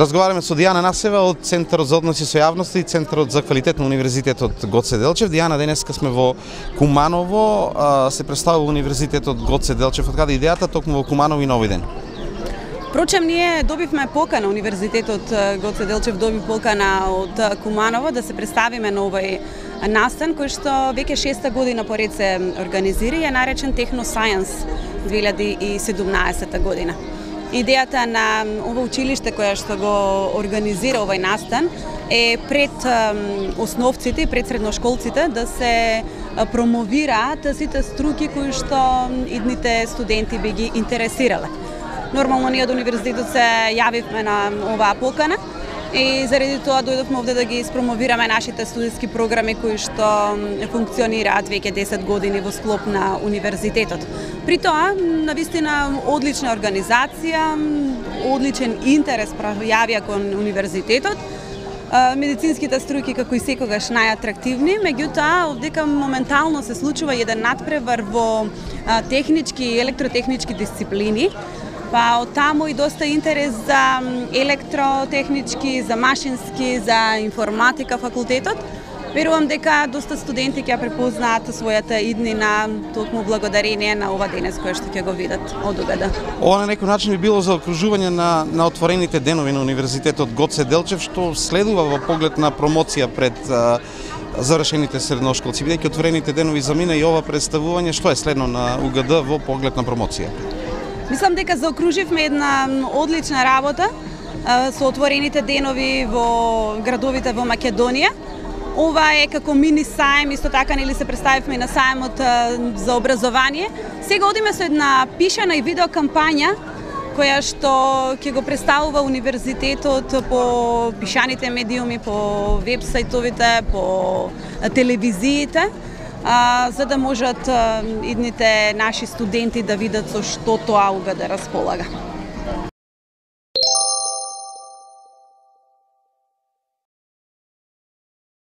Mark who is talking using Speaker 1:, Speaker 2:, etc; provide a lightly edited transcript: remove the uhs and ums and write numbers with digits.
Speaker 1: Разговараме со Дијана Насева од Центарот за односи со јавноста и Центарот за квалитет на Универзитетот Гоце Делчев. Дијана, денеска сме во Куманово, се представува Универзитетот Гоце Делчев. Од каде идејата токму во Куманово и на овој ден?
Speaker 2: Впрочем, ние добивме покана, Универзитетот Гоце Делчев доби покана од Куманово да се представиме на овој настан кој што веќе 6-та година поред се организира и е наречен Техно Science 2017 година. Идејата на ова училиште која што го организира овој настан е пред основците и пред средношколците да се промовираат сите струки кои што идните студенти би ги интересирале. Нормално ние од универзитетот се јавивме на оваа покана и заради тоа дојдовме овде да ги испромовираме нашите студентски програми кои што функционираат веќе 10 години во склоп на универзитетот. При тоа, навистина, одлична организација, одличен интерес пројавија кон универзитетот. Медицинските струки како и секогаш најатрактивни, меѓутоа овдека моментално се случува еден надпревар во технички и електротехнички дисциплини. Па од таму и доста интерес за електротехнички, за машински, за информатика факултетот. Верувам дека доста студенти ќе препознаат својата иднина токму благодарение на ова денес која што ќе го видат одугада.
Speaker 1: Ова на некој начин би било за окружување на отворените денови на Универзитетот Гоце Делчев, што следува во поглед на промоција пред завршените средношколци. Бидејќи отворените денови замина и ова представување, што е следно на УГД во поглед на промоција?
Speaker 2: Мислам дека заокруживме една одлична работа со отворените денови во градовите во Македонија. Ова е како мини саем, исто така нели се представивме и на саемот за образование. Сега одиме со една пишана и видео кампања која што ќе го представува универзитетот по пишаните медиуми, по веб-сајтовите, по телевизиите, за да можат идните наши студенти да видат со што тоа УГД располага.